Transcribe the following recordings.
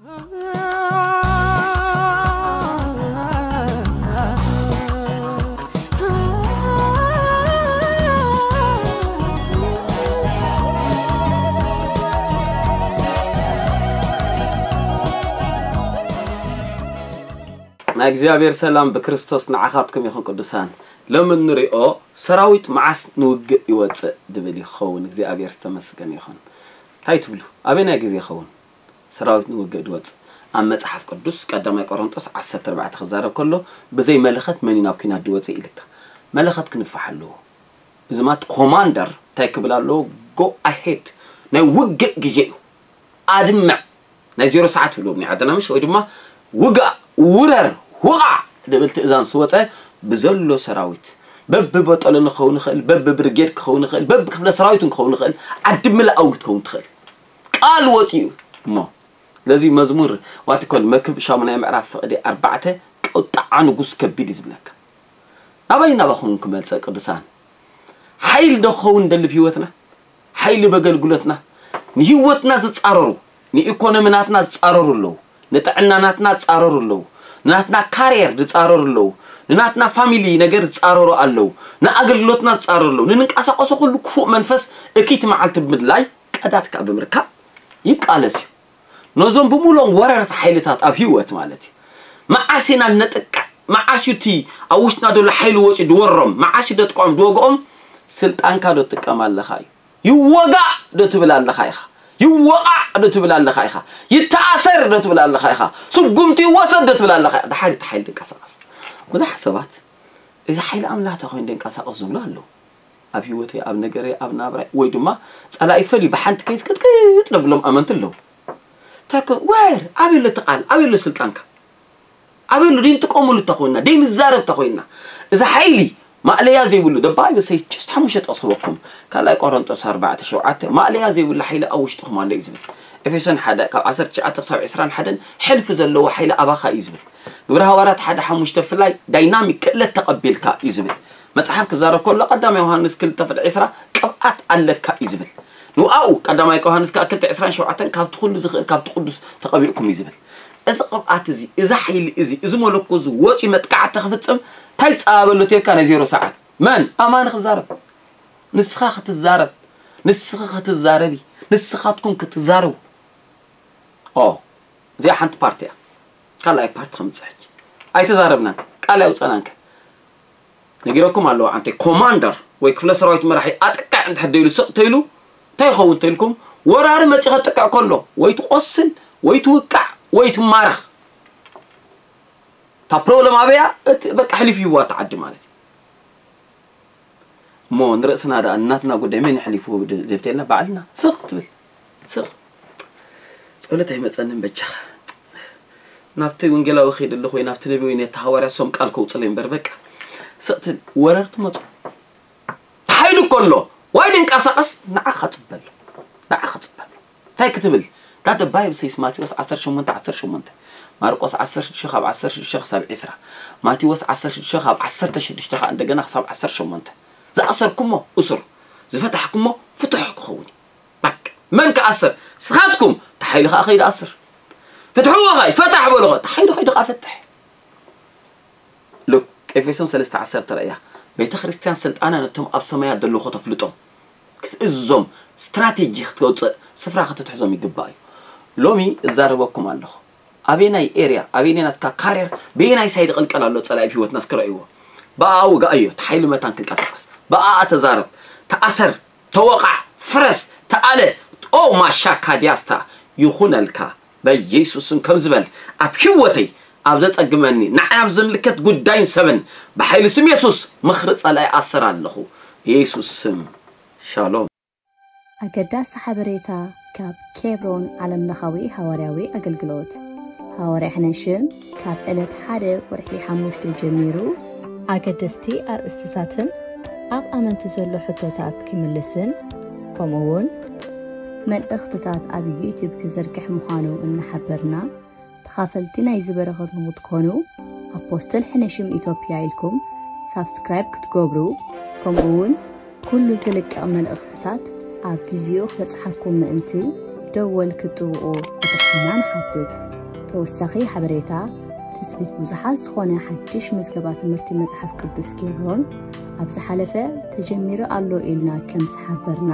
ናይ እግዚኣብሔር ሰላም ብክርስቶስ ንዓኻትኩም ይኹን ቅዱሳን። ሎሚ እንሪኦ ሰራዊት መዓስ ንውግእ ይወፅእ ድብል ይኸውን። እግዚኣብሔር ዝተመስገነ ይኹን። እንታይ ትብሉ? ኣበናይ ግዜ ይኸውን ሰራዊት ንውግእ ድወፅእ? ኣብ መፅሓፍ ቅዱስ ቀዳማይ ቆሮንጦስ ዓሰርተ ኣርባዕተ ክዛረብ ከሎ ብዘይ መለኸት መን እዩ ናብ ኲናት ድወፅእ ኢልካ? መለኸት ክንፋሕ ኣለዎ። እዚ ማለት ኮማንደር እንታይ ክብል ኣለዎ? ጎ ኣሄድ፣ ናይ ውግእ ግዜ እዩ። ኣድምዕ፣ ናይ ዜሮ ሰዓት ይብልዎም ናይ ዓድና ምሽ፣ ወይ ድማ ውጋእ፣ ውረር፣ ውቓዕ ድብል ትእዛዝ ስወፀ ብዘሎ ሰራዊት በብበጠሎን ክኸውን ይኽእል፣ በብብርጌድ ክኸውን ይኽእል፣ በብክፍለ ሰራዊትን ክኸውን ይኽእል፣ ዓዲ ምላኣዊ ክትከውን ትኽእል። ቃል ወፂኡ እሞ ስለዚ መዝሙር ዋትኮል መክብ ሻሙናይ ምዕራፍ ፍቕዲ ኣርባዕተ ቁጣዓ ንጉስ ከቢድ እዩ ዝብለካ። ናባይ ናባኹም ክመልፀ ቅዱሳን ሓይሊ ዶ ክኸውን ደልብ ህይወትና ሓይሊ በገልግሎትና ንህይወትና ዝፃረሩ ንኢኮኖሚ ናትና ዝፃረሩ ኣለዉ። ንጥዕና ናትና ዝፃረሩ ኣለዉ። ንናትና ካሪየር ዝፃረሩ ኣለዉ። ንናትና ፋሚሊ ነገር ዝፃረሩ ኣለዉ። ንኣገልግሎትና ዝፃረሩ ኣለዉ። ንንንቀሳቀሶ ኩሉ ክፉእ መንፈስ እኪት መዓልቲ ብምድላይ ቀዳድካ ብምርካብ ይቃለስ እዩ። ነዞም ብምሉኦም ወረርቲ ሓይልታት ኣብ ህይወት ማለት እዩ። መዓስ ኢና ነጥቅዕ? መዓስ እዩ እቲ ኣብ ውሽጥና ዘሎ ሓይሊ ወፂኡ ድወሮም? መዓስ እዩ ደጥቅዖም ድወግኦም? ስልጣንካ ዶ ትጥቀም ኣለኻ እዩ። ይወጋእ ዶ ትብል ኣለኻ ኢኻ? ይወቓዕ ዶ ትብል ኣለኻ ኢኻ? ይተኣሰር ዶ ትብል ኣለኻ ኢኻ? ስጉምቲ ይወሰድ ዶ ትብል ኣለኻ ኢኻ? ድሓር እቲ ሓይሊ ድንቀሳቐስ። ብዙሓት ሰባት እዚ ሓይሊ ኣምላኽ ተኮይኑ ደንቀሳቐስ ዝብሉ ኣለዉ። ኣብ ህይወተይ ኣብ ነገረይ ኣብ ናብራይ ወይ ድማ ጸላኢ ፈልዩ ብሓንቲ ከይዝ ቅጥቅጥ ደብሎም ኣመንቲ ኣለዉ። ታኮ ወር ኣበሎ ተቓል ኣበሎ ስልጣንካ ኣበሎ ደይንጥቀሙሉ ተኮይና ደይንዛረብ ተኮይና እዚ ሓይሊ ማእለያ ዘይብሉ ደባይ በሰይ ጭስት ሓሙሽተ ጥቕስ ክበኩም ካልኣይ ቆሮንጦስ ኣርባዕተ ሸውዓተ ማእለያ ዘይብሉ ሓይሊ ኣብ ውሽጥኹም ኣሎ እዩ ዝብል። ኤፌሶን ሓደ ካብ ዓሰርተ ትሽዓተ ክሳብ ዕስራን ሓደን ሕልፊ ዘለዎ ሓይሊ ኣባኻ እዩ ዝብል። ግብረ ሃዋርያት ሓደ ሓሙሽተ ብፍላይ ዳይናሚክ ክእለት ተቐቢልካ እዩ ዝብል። መጽሓፍ ክዛረብ ከሎ ቀዳማይ ዮሃንስ ክልተ ፍቕዲ ዕስራ ቅብኣት ኣለካ እዩ ዝብል። ንውኣኡ ቀዳማይ ዮሃንስ ከዓ ክልተ ዕስራን ሸውዓተን ካብቲ ኩሉ ዝኽእል ካብቲ ቅዱስ ተቐቢእኩም እዩ ዝብል። እዚ ቅብኣት እዚ እዚ ሓይሊ እዚ እዚ መለኮ እዚ ወፂ መጥቃዕቲ ክፍፅም እንታይ ፃበሎ ተልካ ናይ ዜሮ ሰዓት መን ኣማኒ ክዛረብ ንስኻ ክትዛረብ ንስኻ ክትዛረቢ ንስኻትኩም ክትዛረቡ ኦ እዚኣ ሓንቲ ፓርቲ እያ። ካልኣይ ፓርቲ ከምፅእ ሕጂ ኣይተዛረብናን ቃል ኣይውፀናን ነጊረኩም ኣለዎ። ዓንተ ኮማንደር ወይ ክፍለ ሰራዊት መራሒ ኣጥቃዕ እንድሕር ደይሉ ስቕ ተይሉ እንታይ ይኸውን ተይልኩም ወራሪ መፂ ከጥቅዕ ከሎ ወይ ትቆስል ወይ ትውቃዕ ወይ ትማረኽ። እታ ፕሮብለም ኣበያ እቲ በቃ ሕሊፍ ይዋ ተዓዲ ማለት እዩ። እሞ ንርእስና ደኣ እናትና ጉዳይ መን ይሕሊፉ ዘብተልና ባዕልና ስቕ ትብል ስቕ ጸሎት ኣይመጸንን በጃኻ ናብቲ ወንጌላዊ ኸይድ ኣለኹ ወይ ናብቲ ነቢ ወይ ነቲ ሃዋርያ ሶም ቃል ከውፅለይ እምበር በቃ ስቕ ትብል ወረርቲ መፁ ተሓይሉ ከሎ ዋይ ድንቀሳቐስ ንዓኻ ፅበሎ ንዓኻ ፅበሎ እንታይ ክትብል that the Bible says ማቴዎስ ዓሰርተ ሸሞንተ ዓሰርተ ሸሞንተ ማርቆስ ዓሰርተ ሽዱሽተ ካብ ዓሰርተ ሽዱሽተ ክሳብ ዕስራ ማቴዎስ ዓሰርተ ሽዱሽተ ካብ ዓሰርተ ሽዱሽተ ከዓ እንደገና ክሳብ ዓሰርተ ሸሞንተ ዝኣሰርኩሞ እሱር ዝፈታሕኩሞ ፍትሑ ክኸውን እዩ በቃ መን ክኣስር ስኻትኩም ተሓይሉ ከዓ ከይድ ኣስር ፍትሕዎ ኸይ ፈታሕ በሎ ኸ ተሓይሉ ከይዱ ከዓ ፈትሕ ሉክ ኤፌሶን ሰለስተ ዓሰርተ ርእያ ቤተ ክርስቲያን ስልጣና ነቶም ኣብ ሰማያት ዘለኹ ተፍልጦም ክትእዝዞም ስትራቴጂ ክትወፅእ ስፍራ ክትትሕዞም ይግባእ እዩ ሎሚ እዛረበኩም ኣለኹ ኣበየናይ ኤርያ ኣበየናይ ናትካ ካርየር በየናይ ሳይድ ቐልቀል ኣሎ ፀላኢ ህይወትና እስክረእይዎ ብኣኣ ውጋእ እዮ ተሓይሉ መታን ክንቀሳቀስ ብኣኣ ተዛረብ ተኣሰር ተወቓዕ ፍረስ ተኣለ ኦ ማሻካ ዲያስታ ይኹነልካ በየሱስን ከም ዝበል ኣብ ህይወተይ ኣብ ዘጸግመኒ ንዓይ ኣብ ዝምልከት ጉዳይን ሰብን ብሓይሊ ስም የሱስ ምኽሪ ጸላኢ ኣሰር ኣለኹ የሱስ ስም ሻሎም ኣገዳሲ ሓበሬታ ካብ ኬብሮን ዓለምለኻዊ ሃዋርያዊ ኣገልግሎት። ሃዋርያ ሕነሽም ካብ ዕለት ሓደ ወርሒ ሓሙሽተ ጀሚሩ ኣገደስቲ ኣርእስትታትን ኣብ ኣመንቲ ዘሎ ሕቶታት ክምልስን ከምኡ እውን መልእኽትታት ኣብ ዩቲዩብ ክዝርግሕ ምዃኑ እናሓበርና ተኻፈልቲ ናይዚ በረኸት ንኽትኮኑ ኣፖስትል ሕነሽም ኢትዮጵያ ኢልኩም ሳብስክራይብ ክትገብሩ ከምኡ እውን ኩሉ ዝልቀቕ መልእኽትታት ኣብ ግዚኡ ክበጽሓኩም ምእንቲ ደወል ክትጥውቑ ይትሕት። ኢና ንሓትት። ተወሳኺ ሓበሬታ፣ ትጽቢት ብዙሓት ዝኾነ ሓድሽ መዝገባ ትምህርቲ መጽሓፍ ቅዱስ ኬብሮን ኣብ ዝሓለፈ ተጀሚሩ ኣሎ ኢልና ከም ዝሓበርና፣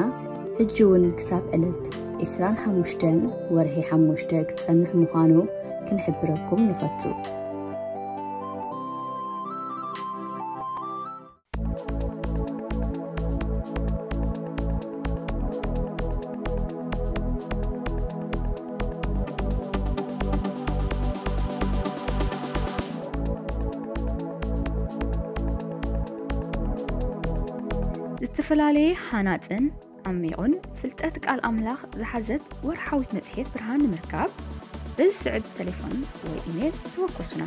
ሕጂ እውን ክሳብ ዕለት ዕስራን ሓሙሽተን ወርሒ ሓሙሽተ ክጸንሕ ምዃኑ ክንሕብረኩም ንፈቱ። ዝተፈላለየ ሃናጽን ዓሚቑን ፍልጠት ቃል ኣምላኽ ዝሓዘት ወርሓዊት መጽሔት ብርሃን ንምርካብ፣ ብዝስዕብ ተሌፎን ወይ ኢሜል ተወከሱና።